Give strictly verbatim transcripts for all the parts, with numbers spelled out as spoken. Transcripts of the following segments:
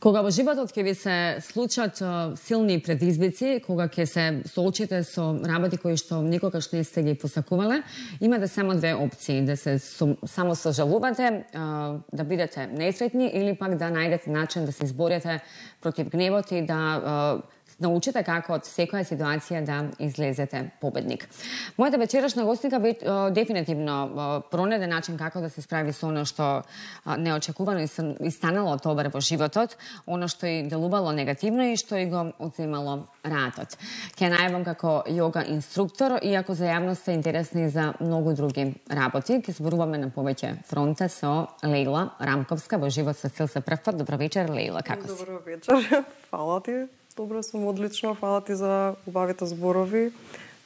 Кога во животот ќе ви се случат силни предизвици, кога ќе се соочите со работи кои што никогаш не сте ги посакувале, имате само две опции: да се само сожалувате, да бидете несретни или пак да најдете начин да се изборите против гневот и да научите како од секоја ситуација да излезете победник. Мојата вечерашна гостинка дефинитивно пронајде начин како да се справи со оно што неочекувано и станало добро во животот, оно што и делувало негативно и што и го одземало раатот. Ќе најавам како јога инструктор, иако за јавност е интересни за многу други работи. Ќе зборуваме на повеќе фронта со Лејла Рамковска во Живот со стил се прв пат. Добро вечер, Лејла, како си? Добро вечер, фала ти. Добро сум, одлично, фала ти за убавите зборови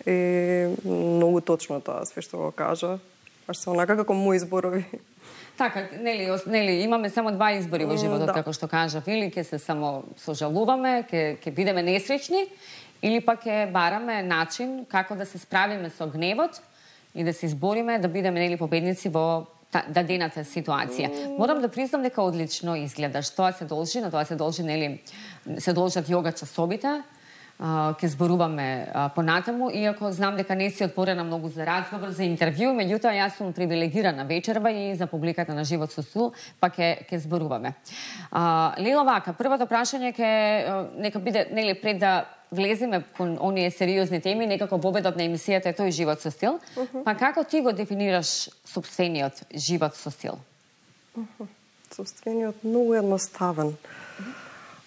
и многу точно тоа све што го кажа. Баш се онака како мои зборови. Така, нели, нели имаме само два избори во животот, да. Како што кажав, или ќе се само сожалуваме, ќе ќе бидеме несреќни, или пак ќе бараме начин како да се справиме со гневот и да се избориме да бидеме нели победници во дадената ситуација. Морам да признам дека одлично изгледаш. Тоа се должи, на тоа се должи, нели, се должат јога часовите. Ќе зборуваме понатаму, иако знам дека не си отворена многу за разговор, за интервју, меѓутоа јас сум привилегирана вечерва и за публиката на Живот со стил, па ќе ќе зборуваме. Лејла, вака, првото прашање ќе нека биде, нели, пред да влеземе кон оние сериозни теми, некако победот на емисијата е тој Живот со стил. Uh -huh. Па како ти го дефинираш сопствениот живот со стил? Uh -huh. Сопствениот многу едноставен. Uh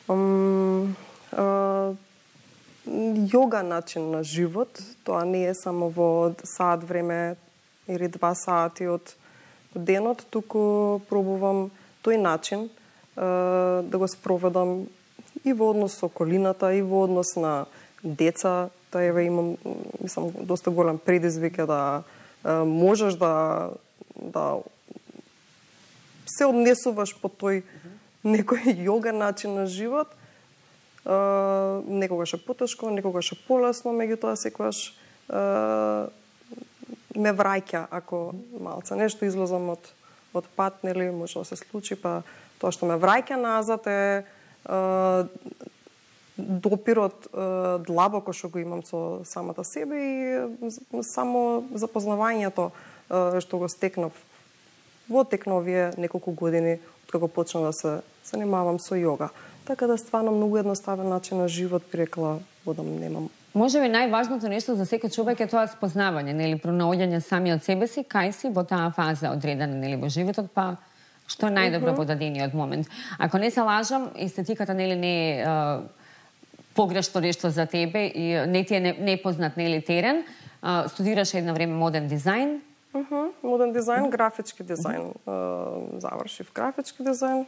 -huh. um, uh, Јога начин на живот, тоа не е само во саат време или два сати од денот, туку пробувам тој начин uh, да го спроведам и во однос со околината, и во однос на деца. Та еве имам, мислам, доста голем предизвик е да е, можеш да да се однесуваш по тој некој јога начин на живот. Е, некогаш е потешко, некогаш е полесно, меѓутоа секогаш е, ме враќа ако малце нешто излезам од од пат, нели, може да се случи, па тоа што ме враќа назад е допирот длабоко што го имам со самата себе и само запознавањето што го стекнав во тек на овие неколку години откако почнав да се занимавам со јога. Така да стварно многу едноставен начин на живот, би рекла, водам немам. Може би најважното нешто за секој човек е тоа спознавање, нели, пронаоѓање сами од себе си, кај си во таа фаза одредена, нели, во животот, па што е најдобро во дадениот момент. Ако не се лажам, естетиката нели не е погрешно нешто за тебе и не ти е непознат нели терен. А, студираш едно време моден дизајн. Uh -huh. Моден дизајн, графички дизајн. Uh -huh. Завршив графички дизајн,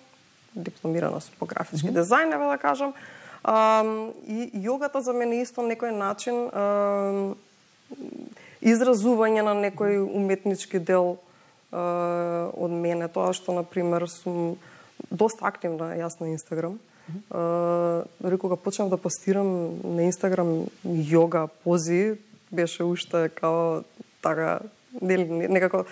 дипломирана сум по графички uh -huh. дизајн, еве да кажам. Uh, и јогата за мене исто некој начин uh, изразување на некој уметнички дел од мене, тоа што, например, сум доста активна јас на Инстаграм. Дори кога почнав да постирам на Инстаграм јога пози, беше уште као така, некако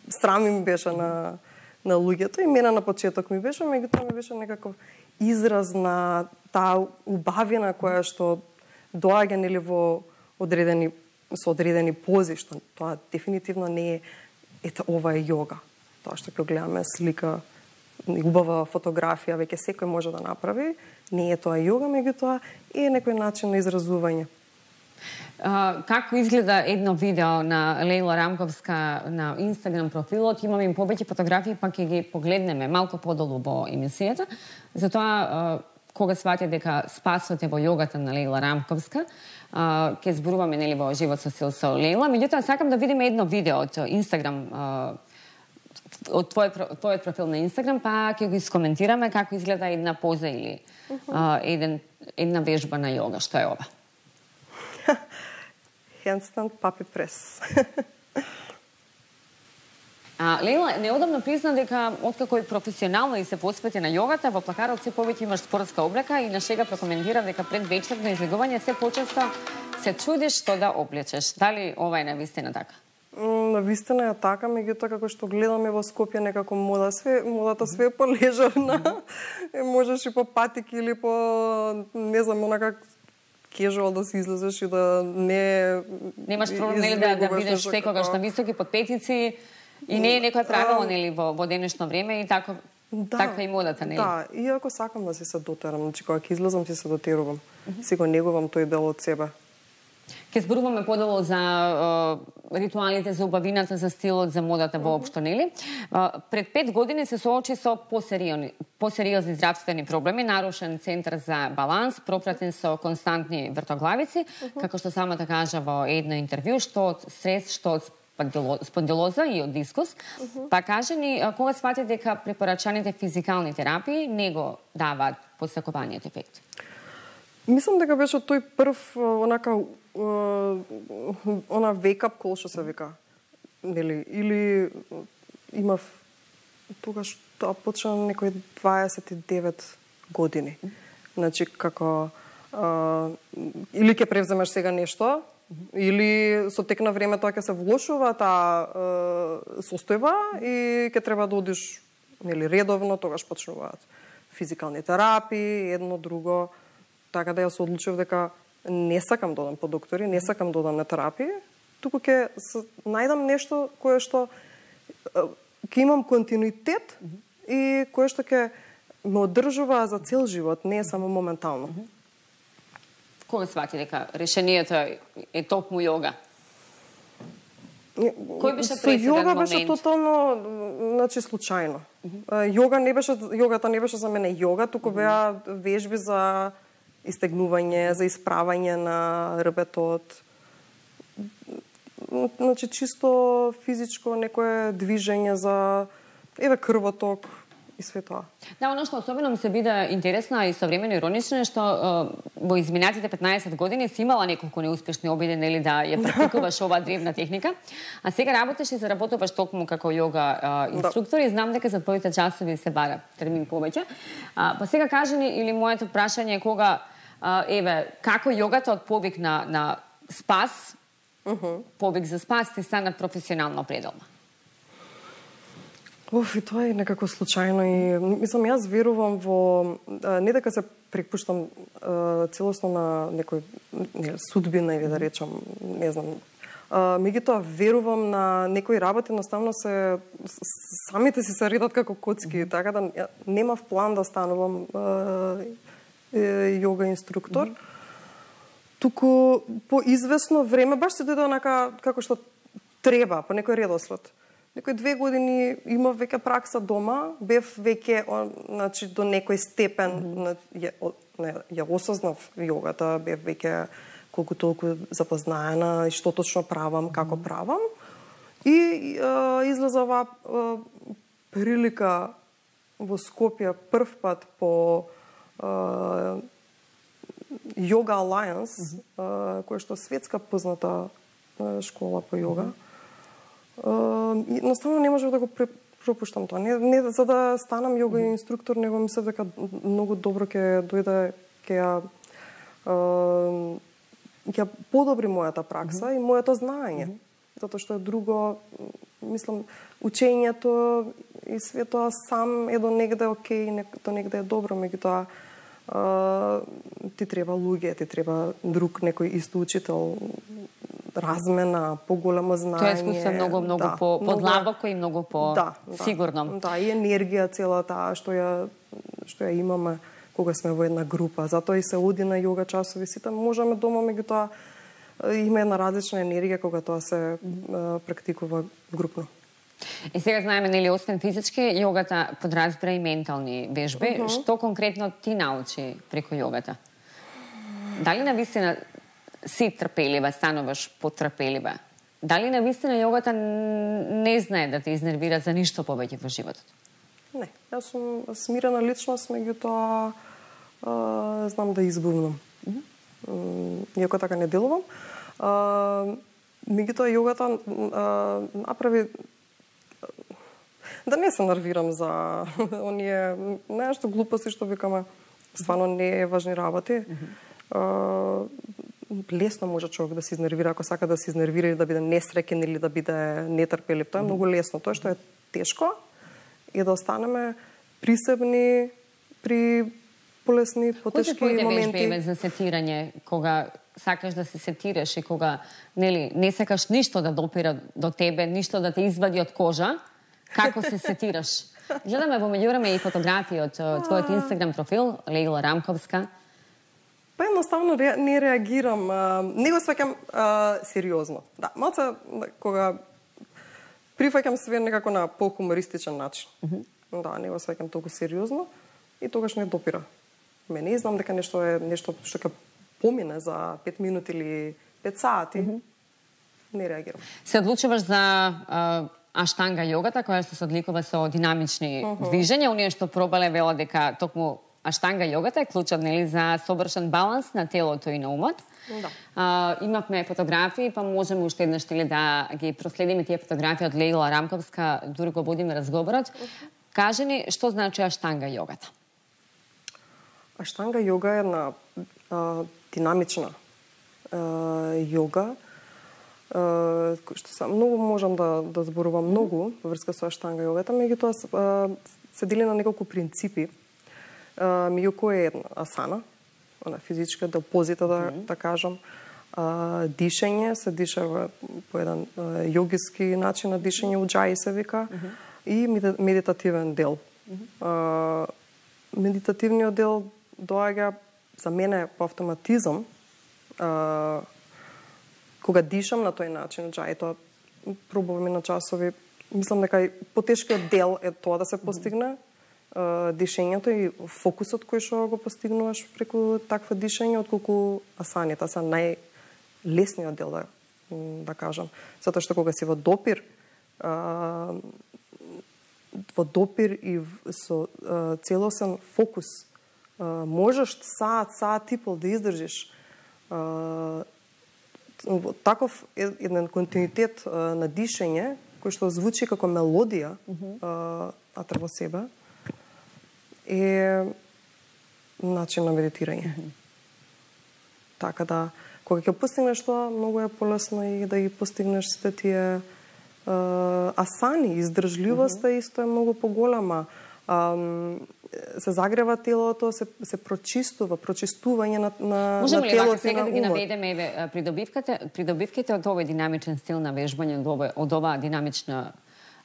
срамим беше на, на луѓето и мене на почеток ми беше, меѓутоа ми беше некаков израз на таа убавина која што доаѓа нели во одредени со одредени пози, што тоа дефинитивно не е ето ова е јога. Тоа што ќе гледаме слика, убава фотографија, веќе секој може да направи. Не е тоа јога, меѓутоа е некој начин на изразување. Uh, како изгледа едно видео на Лејла Рамковска на Инстаграм профилот? Имаме им повеќе фотографии, па ќе ги погледнеме малку подолу во емисијата. Затоа, uh, кога свати дека спасвате во јогата на Лејла Рамковска, Uh, ќе зборуваме нели во Живот со стил со Лејла. Меѓутоа сакам да видиме едно видео од Инстаграм, uh, од твојот твојот профил на Инстаграм, па ќе го искоментираме како изгледа една поза или uh, еден една вежба на јога. Што е ова? Handstand puppy press. А, Лејла, неодамно призна дека откако е професионално и се посвети на јогата, во плакарот се повеќе имаш спортска облека и на шега прокоментира дека пред вечерно излегување се почесто се чудиш што да облечеш. Дали ова е навистина така? На вистина е така, меѓутоа како што гледаме во Скопје некако мода све, модата све е полежавна. Можеш и по патики или по не знам, онака кежуал да си излезеш и да не немаш проблем нели да да бидеш секогаш на високи подпетици и не е некој правило нели во во денешно време и така да, таква и модата, нели? Да, иако сакам да си се дотерам, значи кога ќе излезам си се дотерувам. Mm -hmm. Си го негувам тој дел од себе. Ке зборуваме подело за е, ритуалите, за убавината, за стилот, за модата воопшто, нели? Е, пред пет години се соочи со посериозни, посериозни здравствени проблеми, нарушен центар за баланс, пропратен со константни вртоглавици, uh -huh. како што самата кажа во едно интервју, што од стрес, што од спондилоза и од дискус. Uh -huh. Па кажи ни, кога свати дека препорачаните физикални терапии не го даваат посакуваниот ефект? Мислам дека беше тој прв онака она wake-up call што се вика. Нели, или имав тогаш тоа почна некои дваесет и девет години. Значи како а, или ќе превземеш сега нешто, или со тек на време тоа ќе се влошува таа состојба и ќе треба да одиш нели редовно, тогаш почнуваат физикални терапии, едно друго. Така да ја се одлучив дека не сакам да одам по доктори, не сакам да одам на терапија, туку ќе најдам нешто кое што ќе имам континуитет mm -hmm. и кое што ќе ме одржува за цел живот, не е само моментално. Mm -hmm. Кога свати дека решението е токму јога? Кој беше преседен момент? Јога беше тотално, значи, случајно. Mm -hmm. Јога не беше, јогата не беше за мене јога, туку беа вежби за истегнување, за исправање на рбетот. Значи, чисто физичко некое движење за еве крвоток и све тоа. Да, оно што особено ми се биде интересно и современо иронично е што во изминатите петнаесет години си имала неколку неуспешни обиди, нели, да ја практикуваш оваа древна техника, а сега работиш и заработуваш токму како јога инструктор и знам дека за твоите часови се бара термин повеќе. А, па сега кажи ни, или моето прашање е кога а, еве како јогата од повик на на спас, uh -huh. повик за спас ти стана професионално пределна? Оф, и тоа е некако случајно и мислам јас верувам во не дека се препуштам целосно на некој не, судбина или да речам, не знам. Меѓутоа верувам на некои работи, едноставно се самите си се редат како коцки, така да немав план да станувам јога инструктор. Mm -hmm. Туку по известно време баш се дојде онака како што треба, по некој редослед. Некои две години имав веќе пракса дома, бев веќе, значи, до некој степен, mm -hmm. ја, не, ја осознав јогата, бев веќе колку толку запознаена и што точно правам, како mm -hmm. правам. И е, излеза оваа прилика во Скопје прв пат по е, Yoga Alliance, mm -hmm. која што светска позната школа по јога. Mm -hmm. Uh, едноставно не можев да го пропуштам тоа. Не, не за да станам јога инструктор, него мислев дека многу добро ќе дојде, ќе ја uh, ќе подобри мојата пракса mm -hmm. и моето знаење. Mm -hmm. Затоа што е друго, мислам, учењето и све тоа сам е до негде окей, до негде е добро, меѓутоа uh, ти треба луѓе, ти треба друг некој исто учител, размена, поголемо знаење. Тоа е искуство многу, многу да, по подлабоко и многу по да, сигурно. Да, да, и енергија цела таа што ја што ја имаме кога сме во една група. Затоа и се оди на јога часови, сите можеме дома, меѓутоа има една различна енергија кога тоа се а, практикува групно. И сега знаеме, нели, освен физички, јогата подразбира и ментални вежби. Uh -huh. Што конкретно ти научи преку јогата? Дали навистина си трпелива, стануваш потрпелива? Дали навистина јогата не знае да те изнервира за ништо повеќе во животот? Не, јас сум смирена личност, меѓутоа знам да избувнам. Mm -hmm. Иако така не делувам. Меѓутоа јогата а, направи да не се нервирам за оние нешто глупости што викаме, стварно не е важни работи. Mm -hmm. лесно може човек да се изнервира ако сака да се изнервира или да биде несреќен или да биде нетрпелив. Тоа е многу лесно. Тоа што е тешко е да останеме присебни при полесни, потешки моменти. Кои се твоите вежби за сетирање кога сакаш да се сетираш и кога нели не сакаш ништо да допира до тебе, ништо да те извади од кожа, како се сетираш? Гледаме во меѓувреме и фотографии од твојот Инстаграм профил, Леила Рамковска. Па едноставно ре, не реагирам, а, не го сваќам а, сериозно. Да, малце кога прифаќам све некако на по-хумористичен начин. Mm -hmm. Да, не го сваќам толку сериозно и тогаш не допира. Мене знам дека нешто е нешто што ќе помине за пет минути или пет сати. Mm -hmm. Не реагирам. Се одлучуваш за а, аштанга јогата, која што се одликува со динамични uh -huh. движења. Оние што пробале велат дека токму аштанга јогата е клучот, нели, за совршен баланс на телото и на умот. Да. А, имавме фотографии, па можеме уште еднаш да ги проследиме тие фотографии од Леила Рамковска, дури го водиме разговорот. Uh -huh. Кажи ни што значи аштанга јогата? Аштанга јога е една а, динамична а, јога, Uh, што са, многу можам да, да зборувам многу во врска со аштанга јогата, меѓутоа uh, се дели на неколку принципи. Uh, меѓу кои е една асана, она физичка, да позита да, mm -hmm. да кажам. Uh, дишење, се диша во, по еден uh, јогиски начин на дишење, уджаи се вика, mm -hmm. и медитативен дел. Mm -hmm. uh, медитативниот дел доаѓа за мене по автоматизам, uh, кога дишам на тој начин, джај, тоа пробуваме на часови. Мислам дека и потешкиот дел е тоа да се постигне, uh, дишењето и фокусот кој што го постигнуваш преку таква дишење, отколку асаните. Са најлесниот дел, да, да кажам. Затоа што кога си во допир, uh, во допир и со uh, целосен фокус, uh, можеш саат, саат и пол да издржиш uh, таков еден континуитет а, на дишење, кој што звучи како мелодија, mm -hmm. а, атре во себе, е начин на медитирање. Mm -hmm. Така да, кога ќе постигнеш тоа, многу е полесно и да ги постигнеш сите тие а, асани, издржливоста mm -hmm. исто е многу поголема. А, се загрева телото, се, се прочистува, прочистување на, на, Можем на ли телото вака сега да ги умот. наведеме еве придобивките, придобивките од овој динамичен стил на вежбање, од оваа, од оваа динамична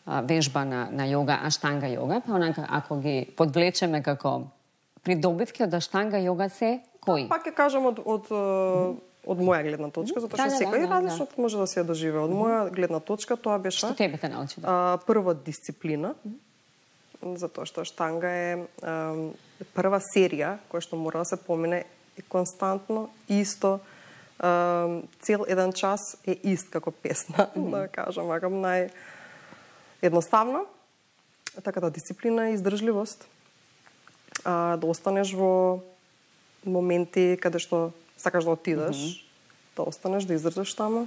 а, вежба на, на јога, аштанга јога, па онака ако ги подвлечеме како придобивки од аштанга јога се кои? Пак ќе кажам од, од, од, од моја гледна точка, затоа што да, секој да, да, различно да. може да се ја доживее. Од моја гледна точка тоа беше што тебе те научи? Да? А, прво дисциплина, затоа што аштанга е а, прва серија која што мора да се помине и константно, исто, а, цел еден час е ист како песна, mm -hmm. да кажам, вакам нај едноставно. Така да дисциплина и издржливост, а, да останеш во моменти каде што сакаш да отидеш, mm -hmm. да останеш, да издржаш таму.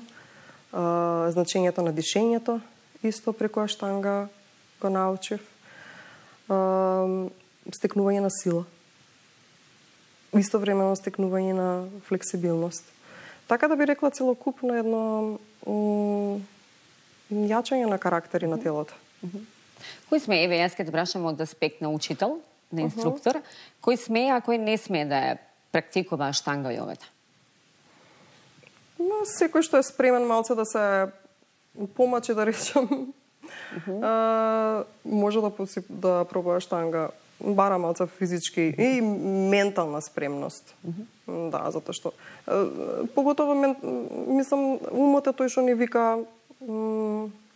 А, значењето на дишењето, исто преку аштанга го научив. Uh, стекнување на сила. Истовремено стекнување на флексибилност. Така да би рекла целокупно едно јачање на карактери на телото. Uh -huh. Кој сме, еве, јас ке те прашам од аспект на учител, на инструктор, uh -huh. кој смее, а кој не смее да ја практикува аштанга јогата? Но секој што е спремен малце да се помачи, да речем, Uh -huh. а, може да, да пробува аштанга, бара малце физички и ментална спремност. Uh -huh. Да, затоа што а, поготово мен, мислам, умот е тој што ни вика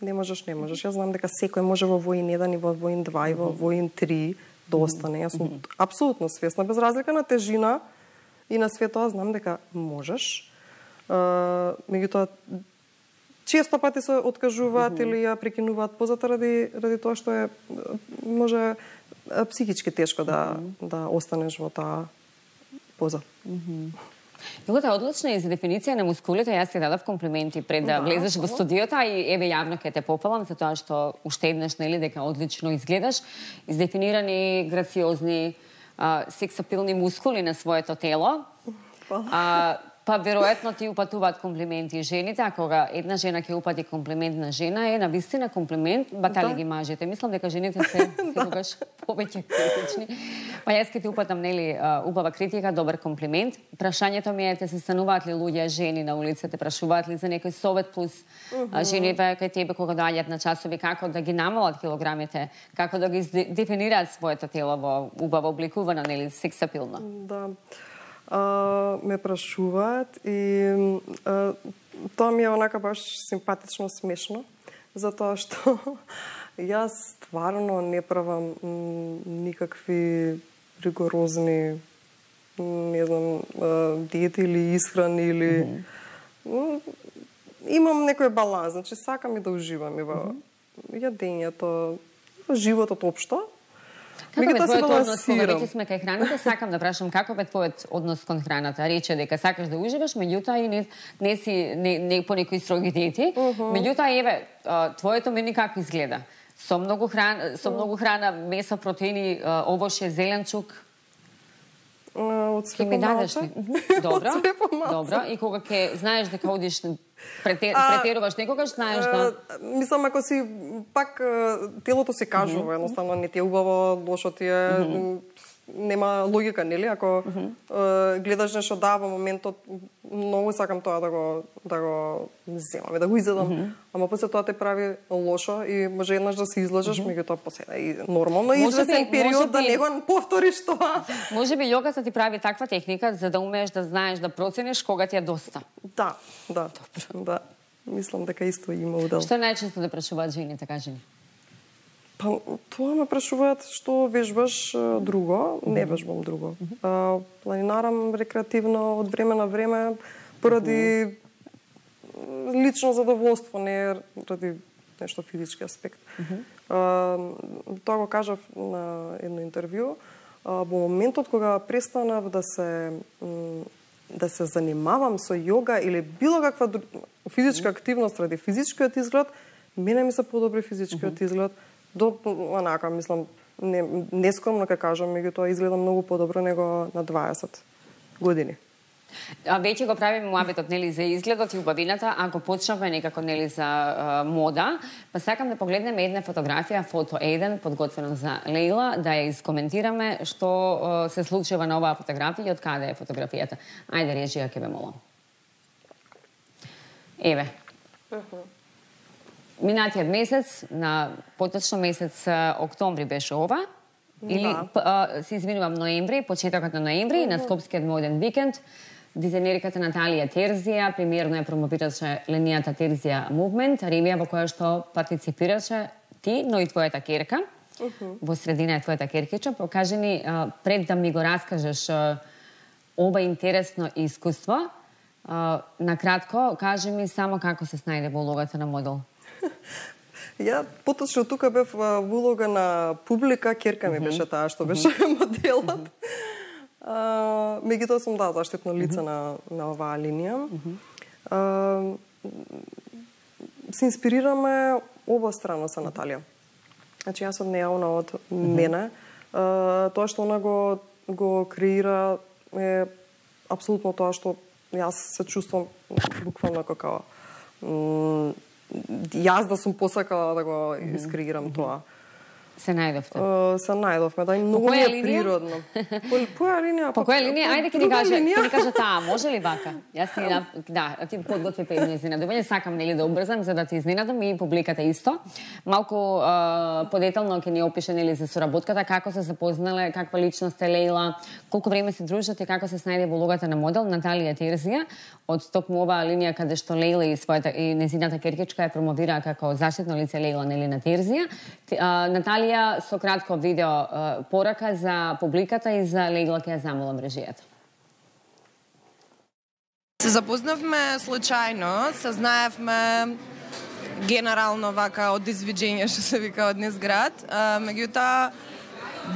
не можеш, не можеш. Јас знам дека секој може во воин еден и во воин два и во воин три да остане. Јас сум апсолутно свесна, без разлика на тежина и на све тоа, знам дека можеш. А, меѓутоа, често пати се откажуваат mm -hmm. или ја прекинуваат позата ради, ради тоа што е може психички тешко да, mm -hmm. да останеш во таа поза. Mm -hmm. Јогата е одлична и за дефиниција на мускулите. Јас ти дадав комплименти пред да, да влезеш во студиото, а и еве јавно ќе те попалам за тоа што уште еднаш, нели, дека одлично изгледаш, издефинирани, грациозни, а, сексапилни мускули на своето тело. А, Па веројатно ти упатуваат комплименти жените, а кога една жена ќе упати комплимент на жена е навистина комплимент, батали да. Ги мажете. Мислам дека жените се секогаш повеќе критични. Па јас ќе ти упатам нели убава критика, добар комплимент. Прашањето ми е те се стануваат ли луѓе жени на улица, те прашуваат ли за некој совет плюс uh -huh. жените кај тебе кога доаѓаат на часови, како да ги намалат килограмите, како да ги дефинираат своето тело во убаво обликувано, нели сексапилно. Да. Uh, ме прашуваат и uh, тоа ми е онака баш симпатично смешно, затоа што јас стварно не правам никакви ригорозни не знам, uh, диети или исхрани или mm -hmm. имам некој баланс, значи сакам и да уживам и во mm -hmm. јадењето, во животот општо. Како бе твојот однос, кога веќе сме кај храната, сакам да прашам како бе твојот однос кон храната? Рече дека сакаш да уживаш, меѓутоа и не, не си не, не по некои строги диети. Uh -huh. Меѓутоа еве, твоето меню како изгледа? Со многу храна, со многу храна, месо, протеини, овоше, зеленчук. Од све помалку. Добро. Добро. И кога ќе знаеш дека одиш Претер, претеруваш некогаш, знаеш да... Мислам, ако си пак телото си кажува, mm -hmm. едноставно не ти е убаво, лошо ти е, mm -hmm. нема логика, нели? Ако mm -hmm. гледаш нешто да во моментот, многу сакам тоа да го да го земам, да го изедам, mm -hmm. ама после тоа те прави лошо и може еднаш да се излажеш, mm -hmm. меѓутоа после и нормално извесен период би, да не го повториш тоа. Може би јогата ти прави таква техника за да умееш да знаеш да процениш кога ти е доста. Да, да. Добро. Да. Мислам дека исто има удел. Што најчесто да прашуваат жените, кажи ми? Па, тоа ме прашуваат што вежбаш друго, mm -hmm. не вежбам друго. Mm -hmm. а, планинарам рекреативно од време на време поради mm -hmm. лично задоволство, не ради нешто физички аспект. Mm -hmm. а, тоа го кажав на едно интервју. А, во моментот кога престанав да се да се занимавам со јога или било каква физичка активност ради физичкиот изглед, мене ми се подобри физичкиот mm -hmm. изглед. До онака, мислам, не, нескромно ка кажам, меѓутоа изгледам многу подобро него на дваесет години. А веќе го правиме муабетот, нели, за изгледот и убавината, ако почнавме некако, нели, за а, мода, па сакам да погледнеме една фотографија, фото еден, подготвена за Лејла, да ја искоментираме што а, се случува на оваа фотографија и од каде е фотографијата. Ајде, режија, ке ве молам. Еве. Uh -huh. Минатиот месец, на поточно месец октомври беше ова, или да. се извинувам ноември, почетокот на ноември, uh -huh. на Скопскиот моден викенд, дизајнерката Наталија Терзија премиерно ја промовираше линијата Терзија Movement, ревија во која што партиципираше ти, но и твојата керка. Uh -huh. Во средина е твојата керкича. Покажи ни, пред да ми го раскажеш ова интересно искуство, накратко, кажи ми само како се снајде во улогата на модел. Ја поточно тука бев во улога на публика, керка ми беше таа што беше моделот. Меѓутоа сум да заштитно лице на на оваа линија. А, се инспирираме обострано со Наталија. Значи јас од неа, она од мене. А, тоа што она го го креира е апсолутно тоа што јас се чувствувам буквално како јас да сум посакала да го искреирам тоа. Се најдовте? Uh, се најдовме, да, и многу ми е природно. По, по која линија? По која линија? Ајде ке ни каже, ке ни каже таа, може ли вака? Јас ти да, ти подготви педни изненадување, сакам нели да убрзам за да ти изненадам и публиката исто. Малку uh, подетално ќе ни опише нели за соработката, како се запознале, каква личност е Лејла, колку време се дружат и како се снајде во улогата на модел Наталија Терзија, од токму оваа линија каде што Лејла и својата и незината керкичка ја промовира како заштитно лице Лејла нели на Терзија. Uh, Наталија со кратко видео uh, порака за публиката и за Лејла ќе ја замолам режијата. Се запознавме случајно, се знаевме генерално вака од извиđење, што се вика од низ град. Uh, меѓутоа,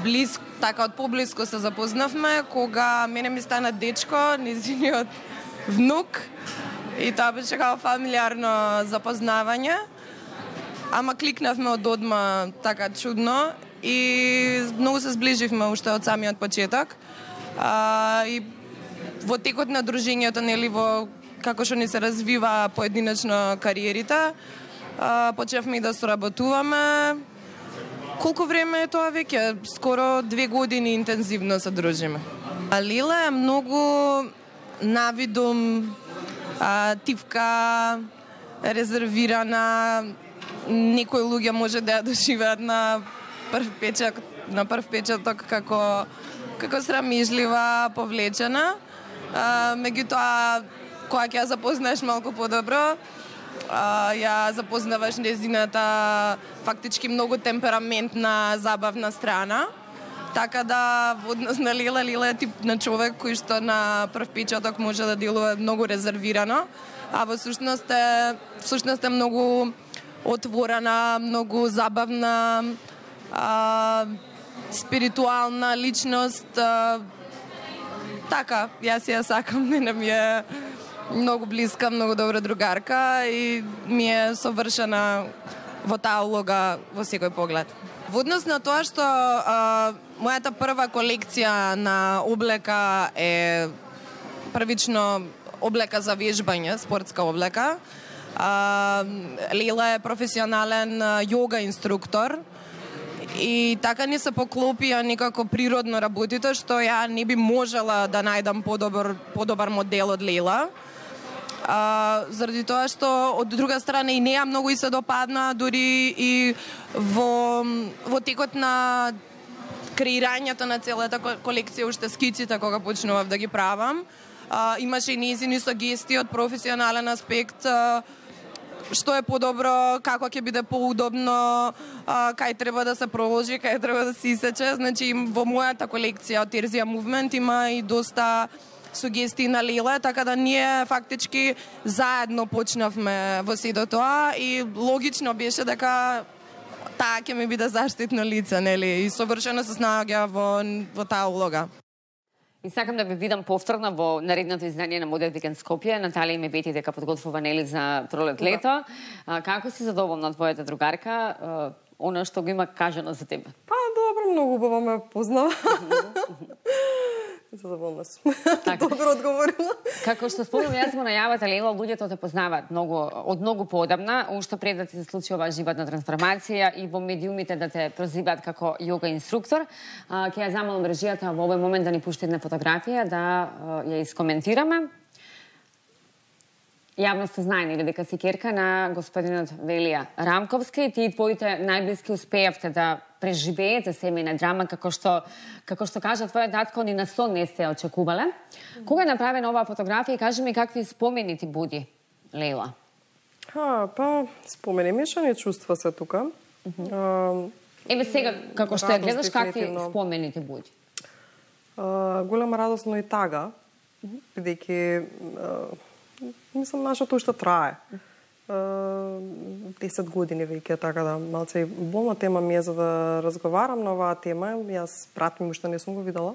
близко, така од поблиско се запознавме, кога мене ми стана дечко, низиниот внук, и тоа беше како фамилиарно запознавање. Ама кликнавме од одма така чудно и многу се зближивме уште од самиот почеток. А, и во текот на дружењето, нели, во како што ни се развива поединечно кариерите, а, почнавме и да соработуваме. Колку време е тоа веќе? Скоро две години интензивно се дружиме. А Лила е многу навидум, а, тивка, резервирана. Некои луѓе може да ја доживеат на прв печат, на прв печаток како како срамежлива, повлечена. А, меѓутоа, кога ќе ја запознаеш малку подобро, а, ја запознаваш незината фактички многу темпераментна, забавна страна. Така да, во однос на Лила, Лила е тип на човек кој што на прв печаток може да делува многу резервирано, а во сушност е, всушност е многу отворена, многу забавна, а, спиритуална личност. А, така, јас ја сакам, не ми е многу блиска, многу добра другарка и ми е совршена во таа улога во секој поглед. Во однос на тоа што а, мојата прва колекција на облека е првично облека за вежбање, спортска облека. А, Лила е професионален јога инструктор и така ни се поклопија некако природно работите, што ја не би можела да најдам подобар, подобар модел од Лила. А, заради тоа што од друга страна и неа многу и се допадна, дури и во, во текот на креирањето на целата колекција, уште скиците кога почнував да ги правам, а, имаше и незини сугестии од професионален аспект, а, што е подобро, како ќе биде поудобно, а, кај треба да се проложи, кај треба да се исече. Значи, во мојата колекција од Терзија Movement има и доста сугестии на Лила, така да ние фактички заедно почнавме во сето тоа и логично беше дека таа ќе ми биде заштитно лице, нели, и совршено се снаоѓа во, во таа улога. И сакам да ви видам повторно во наредното издание на Модел Викенд Скопје. Наталија и ме вети дека подготвува, нели, за пролет-лето. Да. Како си задоволна од твојата другарка? Она што го има кажано за тебе? Па, добро, многу убаво ме познава. Задоволна сум. Добро одговорила. Како што спомнам, јас во најавата, Лела, луѓето те познаваат многу, од многу поодамна, уште пред да ти се случи оваа животна трансформација и во медиумите да те прозиваат како јога инструктор. Ќе ја замолам режијата во овој момент да ни пушти една фотографија, да ја искоментираме. Јавноста знае, нели, дека си керка на господинот Велија Рамковски. Ти и твоите најблиски успеавте да преживеете семејна драма, како што, како што кажа твојот татко, ни на сон не сте очекувале. Кога е направена оваа фотографија и кажи ми какви спомени ти буди, Лела? Ха, па, спомени, мешани чувства се тука. Uh -huh. а, Еве сега, како што ја гледаш, какви спомени ти буди? А, голема радост, но и тага, бидејќи мислам, нашето уште трае. десет години веќе, така да малце и болна тема ми е за да разговарам на оваа тема. Јас брат ми уште не сум го видела.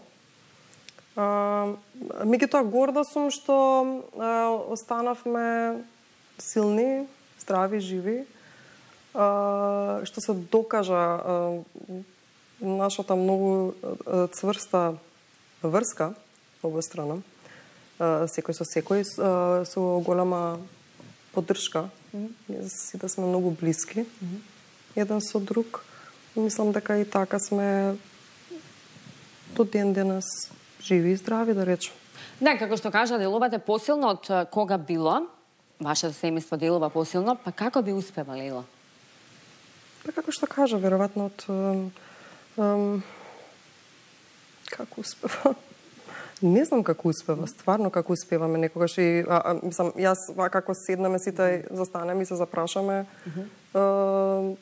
Меѓутоа горда сум што а, останавме силни, здрави, живи. А, што се докажа а, нашата многу а, цврста врска обострана. Секој со секој, со голема поддршка. Сите сме многу блиски, еден со друг. Мислам дека и така сме до ден денес живи и здрави, да речем. Да, како што кажа, делувате посилно од кога било. Вашето семејство делува посилно, па како би успева, Лела? Па како што кажа, веројатно од... Ем, како успева? Не знам како успева, стварно како успеваме некогаш и а, а, мислам, јас како седнаме сите, застанеме и се запрашаме, uh -huh.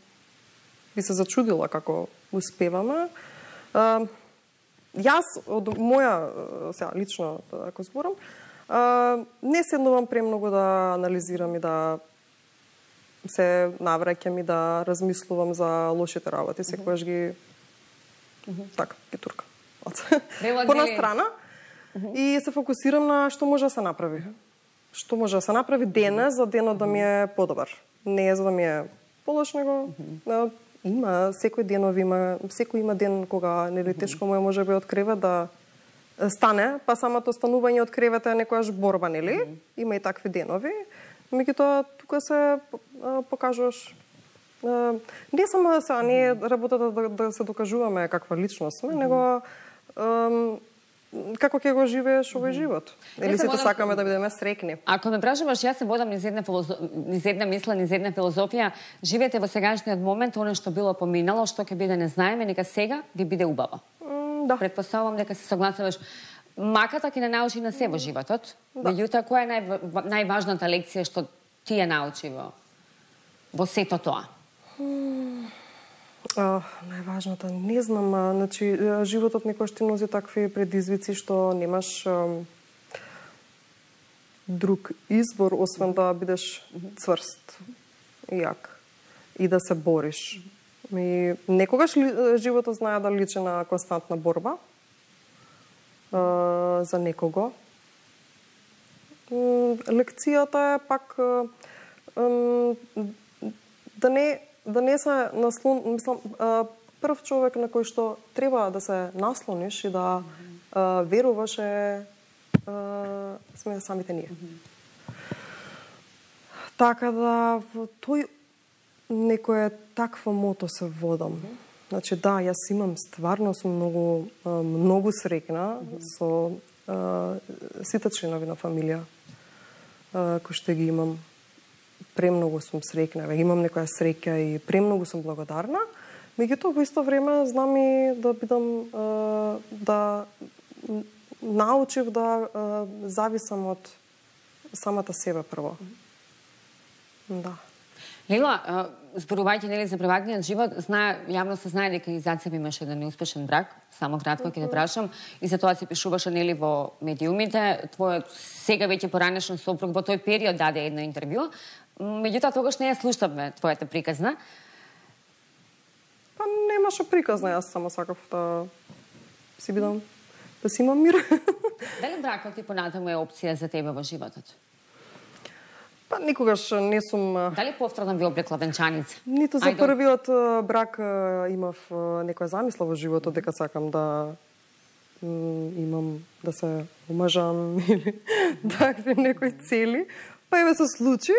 би се зачудила како успеваме. А, јас од моја сега лично ако зборам, а, не седнувам премногу да анализирам и да се навраќам и да размислувам за лошите работи, секогаш ги uh -huh. така ги туркам. По страна. Uh-huh. И се фокусирам на што може да се направи. Што може да се направи денес за денот да ми е подобар. Не е за да ми е полош, него uh-huh. има секој денов има, секој има ден кога нели тешко му е можеби од кревет да стане, па самото станување од кревета е некојаш борба, нели? Mm -hmm. Има и такви денови. Меѓутоа, тука се покажуваш не само се, не е работата да, да се докажуваме каква личност сме, mm -hmm. него како ќе го живееш овој живот. Или сите водам... сакаме да бидеме среќни. Ако ме прашуваш, јас се водам низ една, филозо... низ една мисла, низ една филозофија, живеете во сегашниот момент, оно што било поминало, што ќе биде не знаеме, нека сега ви биде убаво. Mm, да. Предпоставувам дека се согласуваш. Маката ќе не научи на се во животот. Да. Меѓутоа, која е нај... најважната лекција што ти ја научи во, во сето тоа? Mm. Uh, најважната, не знам, а, значи, животот некојаш ти носи такви предизвици што немаш а, друг избор, освен да бидеш цврст и јак и да се бориш. И некогаш ли, животот знае да личи на константна борба а, за некого. Лекцијата е пак а, а, да не да не се наслон, мислам, прв човек на кој што треба да се наслониш и да а, веруваш е а, сме самите ние. Mm-hmm. Така да во тој некој такво мото се водам. Mm-hmm. Значи да, јас имам стварно сум многу многу среќна mm-hmm. со а, сите членови на фамилија а, кои што ги имам. Премногу сум среќна, имам некоја среќа и премногу сум благодарна. Меѓутоа во исто време знам и да бидам да научив да зависам од самата себе прво. Да. Лила, зборувајќи нели за приватниот живот, знае јавно се знае дека и зад себе имаше еден неуспешен брак, само кратко ќе те прашам, и за тоа се пишуваше нели во медиумите, твојот сега веќе поранешен сопруг во тој период даде едно интервју. Меѓутоа тогаш не ја слушавме твојата приказна. Па немаше приказна, јас само сакав да си бидам, да си имам мир. Дали бракот ти понатаму е опција за тебе во животот? Па никогаш не сум... Дали повторно ви облекла венчаница? Ниту за првиот брак имав некоја замисла во животот дека сакам да имам, да се омажам или такви некои цели. Па еве се случи.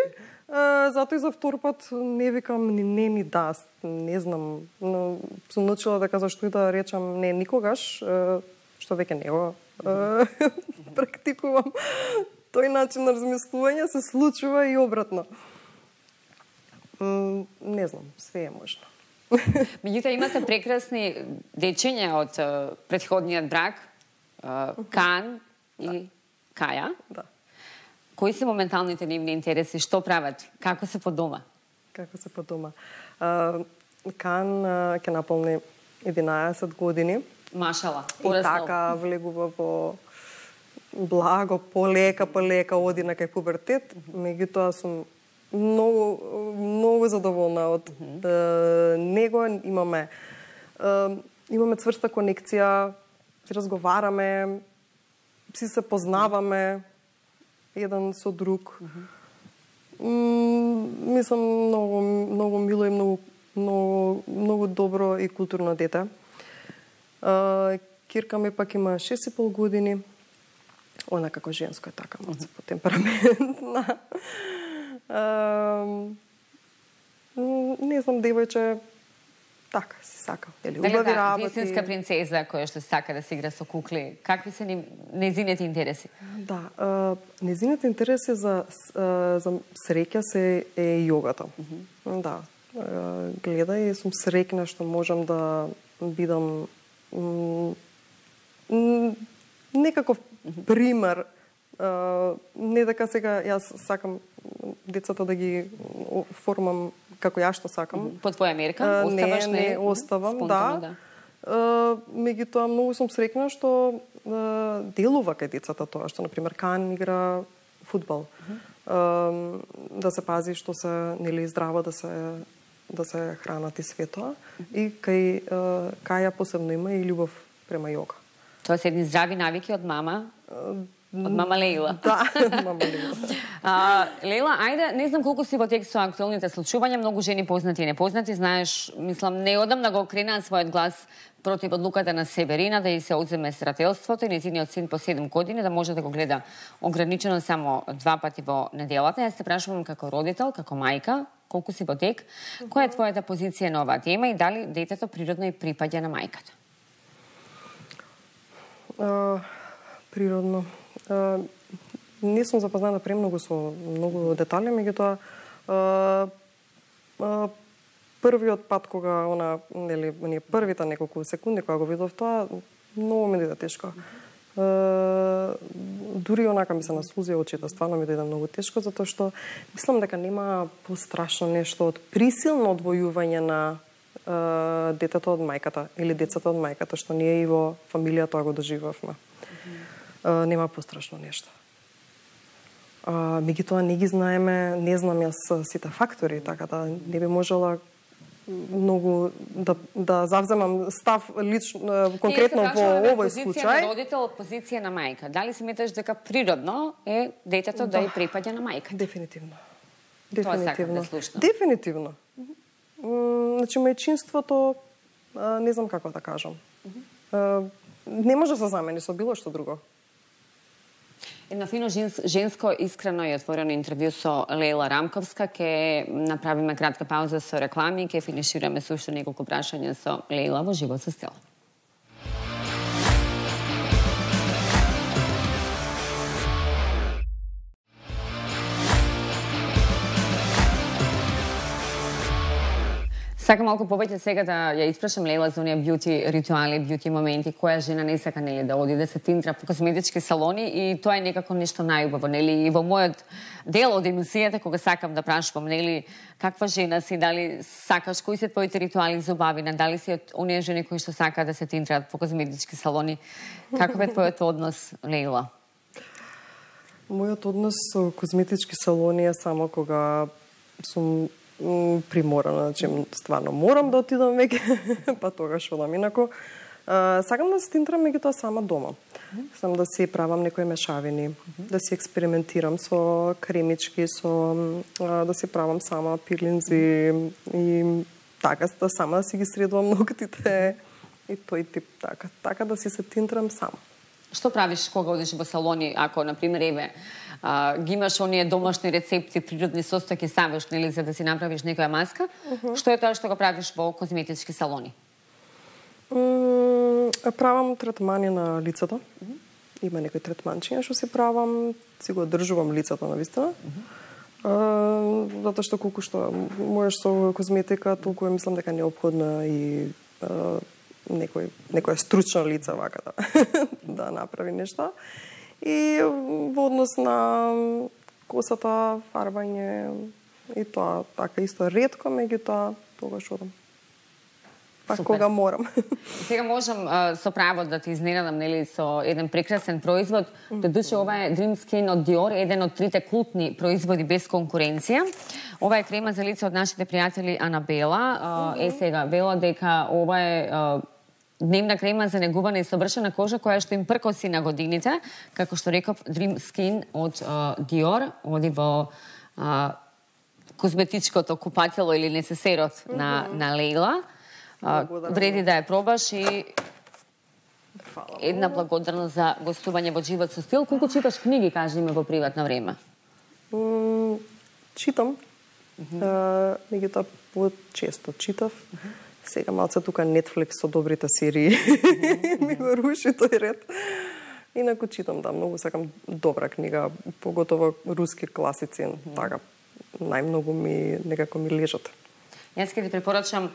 Затоа и за втор пат не викам ни не ни да, не знам, но сум научила дека зашто и да речам не никогаш, што веќе не го практикувам. Тој начин на размислување се случува и обратно. Не знам, све е можно. Меѓутоа имате прекрасни дечиња од претходниот брак, Кан и Каја. Да. Кои се моменталните нивни интереси? Што прават? Како се по дома? Како се по дома? Кан ќе наполни единаесет години. Машала. И така влегува во благо, полека, полека оди на кај пубертет. Меѓутоа сум многу, многу задоволна од mm -hmm. него. Имаме, имаме цврста конекција, си разговараме, си се познаваме еден со друг. Mm-hmm. Мислам многу многу мило и многу многу многу добро и културно дете. Кирка ми пак има шест и пол години. Она како женско е така, малце по темпераментна. Не знам, девојче така си сака. Или убави работи. Вистинска принцеза која што сака да се игра со кукли. Какви се незините интереси? Да, незините интереси за за среќа се е јогата. Mm-hmm. Да. Гледај, сум среќна што можам да бидам некаков пример. Не дека сега јас сакам децата да ги формам како ја што сакам. По твоја мерка? Оставаш? Не, не, оставам, да. да. Меѓутоа, многу сум среќна што делува кај децата тоа, што, например, Кан игра фудбал. Mm-hmm. Да се пази што се, нели, здраво да се да се хранат и све тоа. Mm-hmm. И кај Каја посебно има и љубов према јога. Тоа се едни здрави навики од мама? Од мама Лейла. Да, мама Лейла. А, Лейла, ајде, не знам колку си во текст со актуелните случувања, многу жени познати и непознати, знаеш, мислам, неодамна го окренаа својот глас против одлуката на Северина да и се одземе старателството и нејзиниот син по седум години да може да го гледа ограничено само два пати во неделата. Јас те прашувам како родител, како мајка, колку си во тек, која е твојата позиција на оваа тема и дали детето природно и припаѓа на мајката? Uh, природно. Uh, не сум запозната премногу со многу детали, меѓутоа uh, uh, првиот пат кога она, нели, оние првите неколку секунди кога го видов тоа, многу ми дојде тешко. Uh, дури онака ми се насузија очите, стварно ми дојде многу тешко, затоа што мислам дека нема пострашно нешто од присилно одвојување на uh, детето од мајката или децата од мајката, што ние и во фамилија тоа го доживавме. Uh, нема пострашно нешто. Uh, меѓутоа не ги знаеме, не знам јас сите фактори, така да не би можела многу да, да завземам став лично, конкретно во овој случај. Позиција на родител, позиција на мајка. Дали сметаш дека природно е детето да, да и припаѓа на мајка? Дефинитивно. Дефинитивно. Да Дефинитивно. Mm, значи, мајчинството, не знам како да кажам, uh, не може да се замени со било што друго. Едно фино женско, искрено и отворено интервју со Лейла Рамковска. Ке направиме кратка пауза со реклами и ке финишираме со уште неколку прашања со Лейла во Живот со стил. Сакам малку повеќе сега да ја испрашам Лейла за оние бјути ритуали, бјути моменти, која жена не сака, нели, да оди да се тинтра по косметички салони и тоа е некако нешто најубаво, нели, и во мојот дел од емисијата кога сакам да прашувам, нели, каква жена си, дали сакаш, кои се твоите ритуали за убавина, дали си од оние жени кои што сакаат да се тинтраат по косметички салони, каков е твојот однос, Лейла? Мојот однос со косметички салони е само кога сум приморана, значи стварно морам да отидам веќе, па тогаш одам. Инако, а, сакам да се тинтрам меѓутоа сама дома. Сам да си правам некои мешавини, да си експериментирам со кремички, со а, да си правам сама пилинзи и така, да сама да си ги средувам ноктите и тој тип така, така да си се тинтрам сама. Што правиш кога одиш во салони, ако, например, еве, а, ги имаш оние домашни рецепти, природни состојки савеш, нели, за да си направиш некоја маска? Uh -huh. Што е тоа што го правиш во козметички салони? Mm, правам третмани на лицето. Uh -huh. Има некои третманчиња што си правам, си го одржувам лицето на вистина. Uh -huh. uh, затоа што колку што можеш со козметика, толку е, мислам дека неопходна и uh, некој некоја стручна лица вака да да направи нешто. И во однос на косата, фарбање и тоа така исто ретко, меѓутоа тогаш одам. Па кога морам. Сега можам а, со право да ти изненадам, нели, со еден прекрасен производ. Додуше, ова е Dream Skin од Dior, еден од трите култни производи без конкуренција. Ова е крема за лице од нашите пријатели Анабела. А, е сега, вела дека ова е а, дневна крема за негувана и совршена кожа која што им пркоси на годините, како што реков, Dream Skin од а, Dior, оди во а, козметичкото купатело или несесерот mm -hmm. на, на Лейла. А, вреди да ја пробаш и една благодарност за гостување во Живот со стил. Колку читаш книги, кажи ми, во приватно време? Mm, читам. Mm -hmm. Меѓутоа, по-често читав. Mm -hmm. Сега малце тука Netflix со добрите серии mm-hmm. ми го руши тој ред. Инаку читам, да, многу сакам добра книга, поготово руски класици, mm-hmm. така, најмногу ми, некако ми лежат. Јас ќе ти препорачам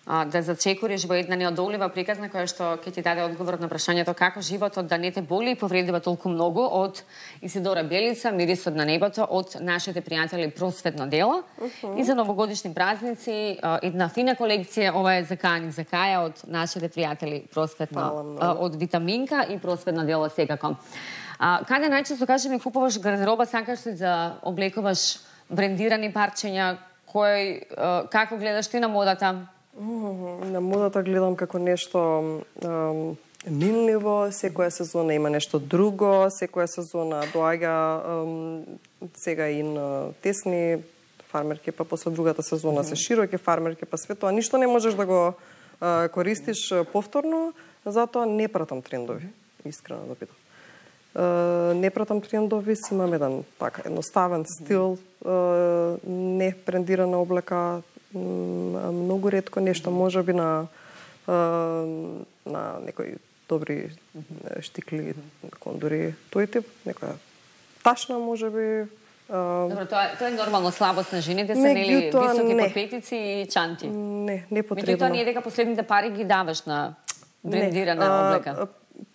а, да зачекориш во една неодолива приказна која што ќе ти даде одговор на прашањето како животот да не те боли и повредува толку многу, од Исидора Белица, Мирисот на небото, од нашите пријатели Просветно дело. Uh-huh. И за новогодишни празници а, една фина колекција, ова е за Кајаник за Каја, од нашите пријатели Просветно, а, од Витаминка и Просветно дело секако. А, каде најчесто, кажи ми, купуваш гардероба, сакаш ли да облекуваш брендирани парчења, кој, а, како гледаш ти на модата? Mm, на модата гледам како нешто um, минливо, секоја сезона има нешто друго, секоја сезона доаѓа ем, сега и на тесни фармерки, па после другата сезона се широки фармерки, па све тоа ништо не можеш да го а, користиш повторно, затоа не пратам трендови, искрено да питам. Uh, не пратам трендови, си имам еден така едноставен стил, uh, не брендирана облека, uh, многу ретко нешто, можеби на uh, на некои добри штикли, кондори, тој тип, некоја ташна можеби. Uh, Добро, тоа, тоа е нормално слабост на жените, се нели високи подпетици и чанти. Не, не потребно. Меѓутоа, ние дека последните пари ги даваш на брендирана не, облека. А,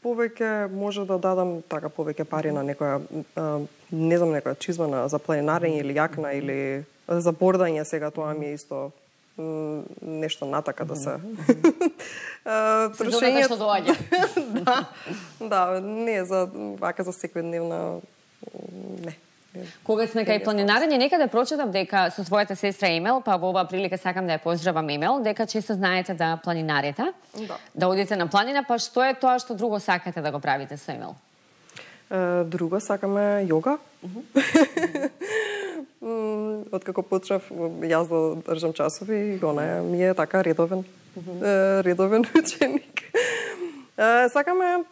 повеќе може да дадам така повеќе пари на некоја а, не знам некоја чизма на за планинарење или јакна или за бордање, сега тоа ми е исто м, нешто натака да се трошење што доаѓа. Да. Да, не за вака за секојдневна не. Кога сме кај планинарење, некаде прочитав дека со својата сестра Емел, па во оваа прилика сакам да ја поздравам Емел, дека често знаете да планинарите, да, да одите на планина, па што е тоа што друго сакате да го правите со Емел? Uh, друго сакаме јога. Откако почнав јас да држам часови, она ми е така редовен, uh, редовен ученик. Uh, сакаме,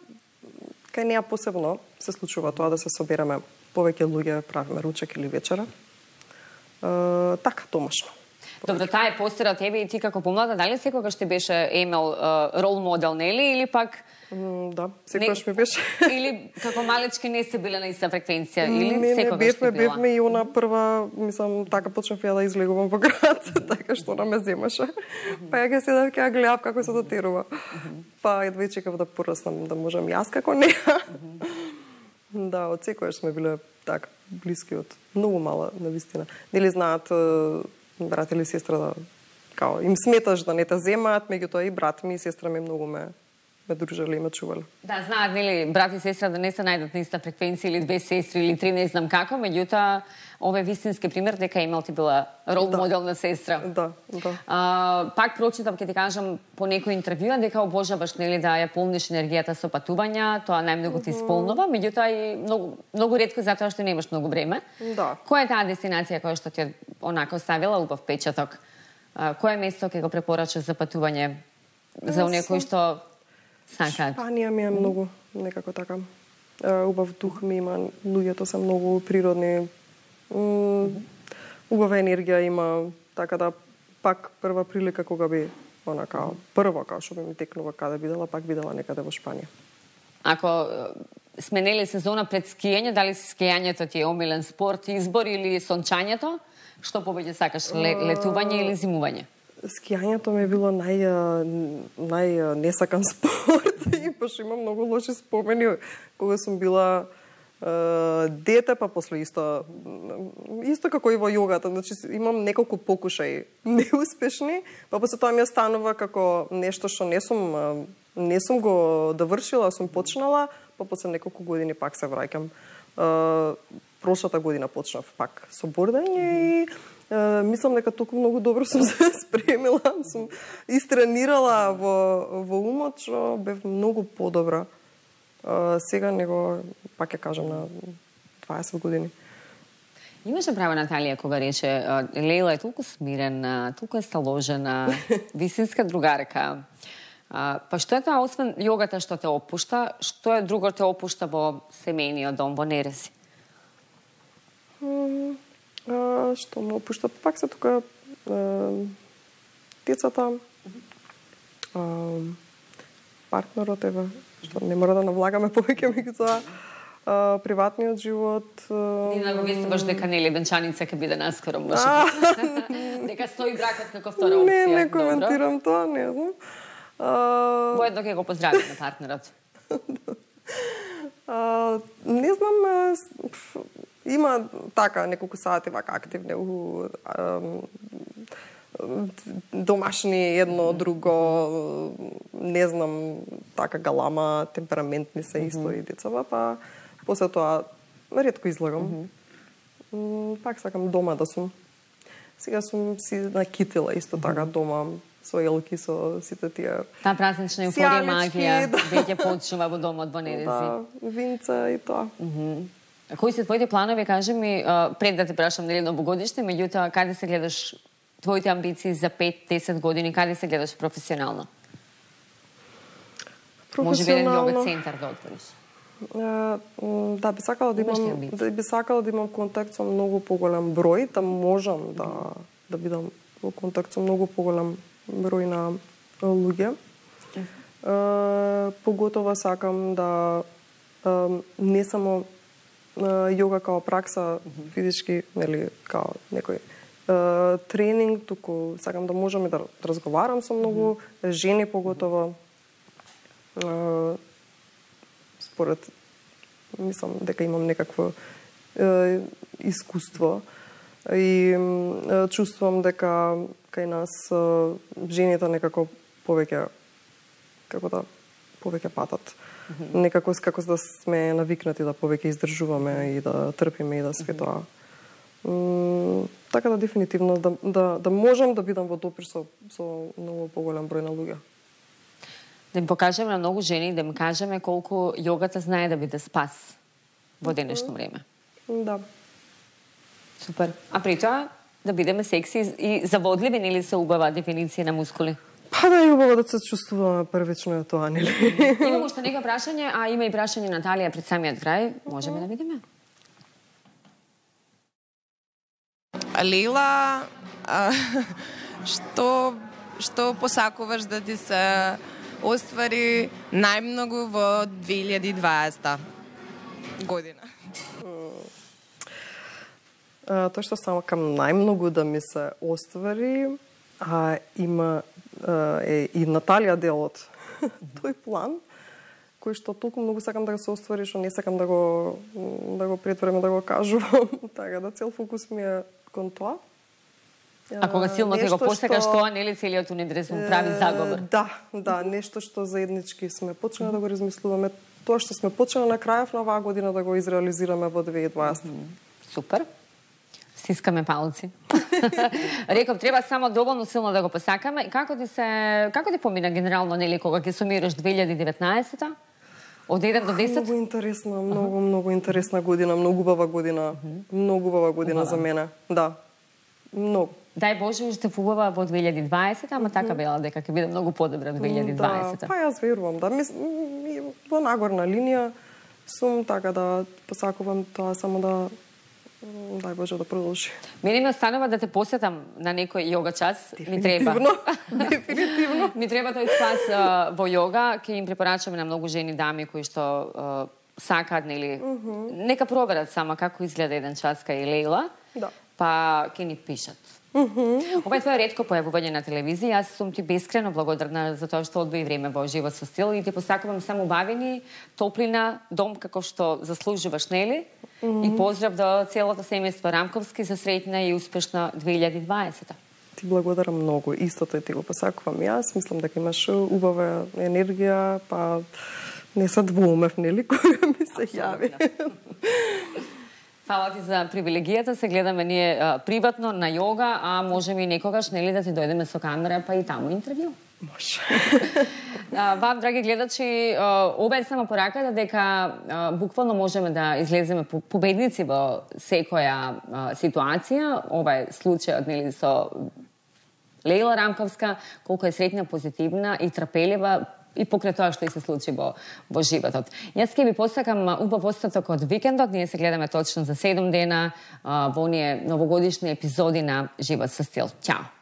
кај неа посебно се случува тоа да се собереме повеќе луѓе, правиме ручек или вечера. Uh, така, домашно. Добро, таа е постера од тебе и ти како помлада, дали секогаш ти беше Емел рол модел, нели, или пак Mm, да, секогаш ми беше. Или како малечки не сте биле на иста фреквенција, или не, секогаш не, бевме, била? бевме и она прва, мислам, така почнав ја да излегувам во град, така што она ме земаше. Mm -hmm. Па ја га седав ќе ја гледав како се дотерува. Mm -hmm. Па едва и чекав да пораснам, да можам јас како неа. Mm -hmm. Да, од секогаш сме биле така блиски од многу мала, навистина. Нели знаат брат или сестра да као им сметаш да не те земаат, меѓутоа и брат ми и сестра ми многу ме ме дружеле и ме чувале. Да, знаат, нели, брат и сестра да не се најдат на иста фреквенција или две сестри или три, не знам како, меѓутоа ова е вистински пример дека Емел ти била рол да. модел на сестра. Да, да. А, пак прочитав, ќе ти кажам, по некој интервјуа дека обожаваш, нели, да ја полниш енергијата со патувања, тоа најмногу ти исполнува, меѓутоа и многу многу ретко затоа што немаш многу време. Да. Која е таа дестинација која што ти онака оставила убав печаток? А, кое место ќе го препорачаш за патување за оние кои што сакаат? Шпанија ми е многу, некако така. Убав дух ми има, луѓето се многу природни. Убава енергија има, така да пак прва прилика кога би онака прво као што би ми текнува каде бидела, пак бидела некаде во Шпанија. Ако сменели сезона пред скијање, дали скијањето ти е омилен спорт, избор или сончањето? Што повеќе сакаш, летување или зимување? Скијањето ми е било нај нај несакан спорт и баш имам многу лоши спомени кога сум била е, дете, па после исто исто како и во јогата, значи имам неколку покушаи неуспешни, па после тоа ми останува како нешто што не сум не сум го довршила, сум почнала, па после неколку години пак се враќам. Прошлата година почнав пак со бордање и Uh, мислам дека толку многу добро сум се спремила, сум истренирала во, во умот, што бев многу подобра. Uh, сега него, пак ќе кажам, на дваесет години. Имаше право Наталија кога рече, Лейла е толку смирена, толку е сталожена, вистинска другарка. Uh, па што е тоа, освен јогата што те опушта, што е друго те опушта во семејниот дом, во Нереси? Mm. Uh, што ме опушта, пак се тука uh, децата, uh, партнерот, ева, што не мора да навлагаме повеќе меѓутоа, uh, приватниот живот. Uh, Ти наговестуваш дека нели венчаница ќе биде наскоро, може би. Дека стои бракот како втора опција. Не, не коментирам тоа, не знам. Uh, Воедно ќе го поздравиме партнерот. uh, не знам, uh, има така неколку сати вака активни у домашни едно друго, не знам, така галама, темпераментни се исто mm -hmm. и децава, па после тоа ретко излагам. Mm -hmm. Пак сакам дома да сум. Сега сум си накитила исто така дома, со елки, со сите тие... Та празнична еуфорија, магија, да. веќе почнува во домот во Недези. Да, винца и тоа. Mm -hmm. Кои се твоите планови, кажи ми, пред да те прашам нели новогодишни, меѓутоа, каде се гледаш твоите амбиции за пет-десет години, каде се гледаш професионално? Може би еден јога центар да отвориш. Uh, да, би сакала да имам, да би сакала да имам контакт со многу поголем број, да можам да да бидам во контакт со многу поголем број на луѓе. Uh, поготово сакам да uh, не само uh, јога као пракса физички, нели, као некој uh, тренинг, туку сакам да можам и да разговарам со многу жени поготово. Uh, според, мислам дека имам некакво е, искуство и е, чувствувам дека кај нас е, жените некако повеќе, како да, повеќе патат. Mm-hmm. Некако како да сме навикнати да повеќе издржуваме и да трпиме и да све тоа. Mm-hmm. Така да дефинитивно да, да, да можам да бидам во допир со, со многу поголем број на луѓе. Да им покажеме на многу жени, да им кажеме колку јогата знае да биде спас во денешно време. Да. Супер. А при тоа да бидеме секси и заводливи, нели се убава дефиниција на мускули? Па да, е убаво да се чувствуваме првично е тоа, нели? Имам уште нека прашање, а има и прашање Наталија пред самиот крај. Можеме да видиме? Лейла, а, што што посакуваш да ти се оствари најмногу во две илјади и дваесета година? Uh, тоа што сакам најмногу да ми се оствари, а има uh, е и Наталија делот тој план кој што толку многу сакам да го се оствари, што не сакам да го да го претворам, да го кажувам, така да цел фокус ми е кон тоа. А кога силно ќе го посакаш што... тоа, нели целиот универзум прави заговор? Да, да, нешто што заеднички сме почнали да го размислуваме, тоа што сме почнали на крајов на оваа година да го изреализираме во две илјади и дваесета. Супер. Стискаме палци. Реков, треба само доволно силно да го посакаме. И како ти се како ти помина генерално, нели, кога ќе сумираш две илјади и деветнаесета? Од еден до десет? Многу интересна, многу, многу интересна година, многу убава година, многу убава година за мене. Да. Многу. Дај Боже, уште убава во две илјади и дваесета, ама така бела дека ќе биде многу подобра две илјади и дваесета. Да, па јас верувам, да. Мис, во нагорна линија сум, така да посакувам тоа само да дај Боже да продолжи. Мене ми останува да те посетам на некој јога час. Ми треба. Дефинитивно. Ми треба тој спас uh, во јога. Ќе им препорачаме на многу жени, дами кои што uh, сакаат, нели, uh -huh. нека проверат само како изгледа еден час кај Лейла. Да. Па ќе ни пишат. Uh -huh. Ова е твое ретко појавување на телевизија. Јас сум ти бескрено благодарна за тоа што одвои време во Живот со стил и ти посакувам само убавини, топлина, дом како што заслужуваш, нели? Uh -huh. И поздрав до целото семејство Рамковски за среќна и успешна две илјади и дваесета. Ти благодарам многу. Истото и ти го посакувам јас. Мислам дека имаш убава енергија, па не се двоумев, нели, кога ми се јави. Фала ти за привилегијата, се гледаме ние а, приватно на јога, а можеме и некогаш, нели, да ти дојдеме со камера, па и таму интервју. Може. а, вам, драги гледачи, а, ова е само пораката дека а, буквално можеме да излеземе победници во секоја а, ситуација. Ова е случајот, нели, со Лейла Рамковска, колку е среќна, позитивна и трпелива, и покрај тоа што и се случи во, во животот. Јас ќе ви посакам убав остаток од викендот. Ние се гледаме точно за седум дена а, во оние новогодишни епизоди на Живот со стил. Ćao!